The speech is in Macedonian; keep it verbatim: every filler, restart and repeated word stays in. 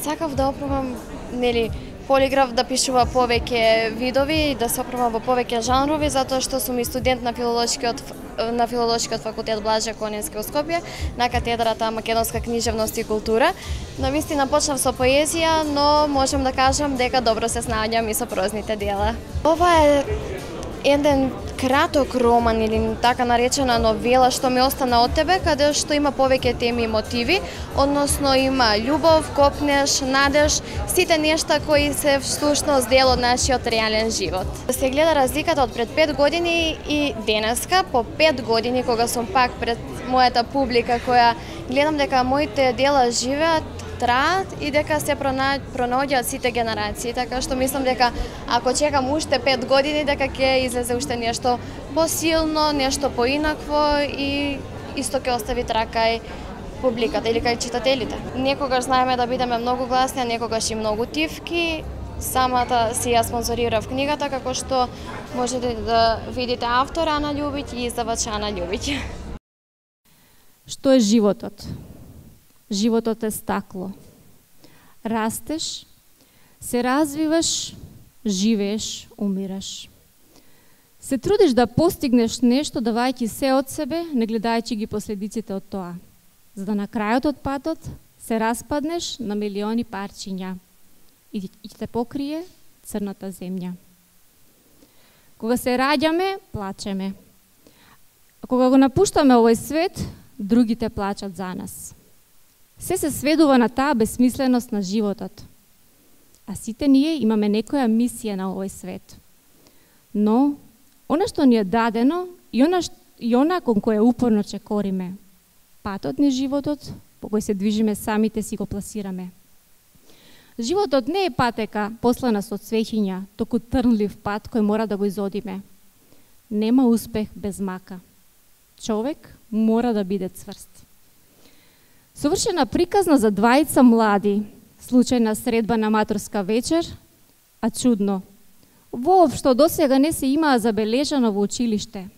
Сакав да опробам, нели, полиграф да пишува повеќе видови, да се опробам во повеќе жанрови, затоа што сум и студент на филолошкиот на филолошкиот факултет Блаже Конински во Скопје, на катедрата Македонска книжевност и култура. Навистина почнав со поезија, но можам да кажам дека добро се снаоѓам и со прозните дела. Ова е еден краток роман или така наречена новела што ми остана од тебе, каде што има повеќе теми и мотиви, односно има љубов, копнеш, надеж, сите нешта кои се всушност дел од нашиот реален живот. Да се гледа разликата од пред пет години и денеска, по пет години кога сум пак пред мојата публика која гледам дека моите дела живеат, траат и дека се пронаоѓаат сите генерации, така што мислам дека ако чекам уште пет години дека ќе излезе уште нешто посилно, нешто поинакво и исто ќе остави траг кај публиката или кај читателите. Некогаш знаеме да бидеме многу гласни, а некогаш и многу тивки. Самата си ја спонзорирав книгата, како што можете да видите автора Ана Љубиќ и издавач Ана Љубиќ. Што е животот? Животот е стакло. Растеш, се развиваш, живееш, умираш. Се трудиш да постигнеш нешто давајќи се од себе, не гледајќи ги последиците од тоа. За да на крајот од патот се распаднеш на милиони парчиња и ќе те покрие црната земја. Кога се раѓаме, плачеме. А кога го напуштаме овој свет, другите плачат за нас. Се се сведува на таа бесмисленост на животот. А сите ние имаме некоја мисија на овој свет. Но, она што ни е дадено и она, и она кон која упорно чекориме, патот ни животот, по кој се движиме самите си го пласираме. Животот не е патека послана со цвеќиња, току трнлив пат кој мора да го изодиме. Нема успех без мака. Човек мора да биде цврст. Совршена приказна за двајца млади, случајна средба на матурска вечер, а чудно. Воопшто досега не се имаа забележано во училиште.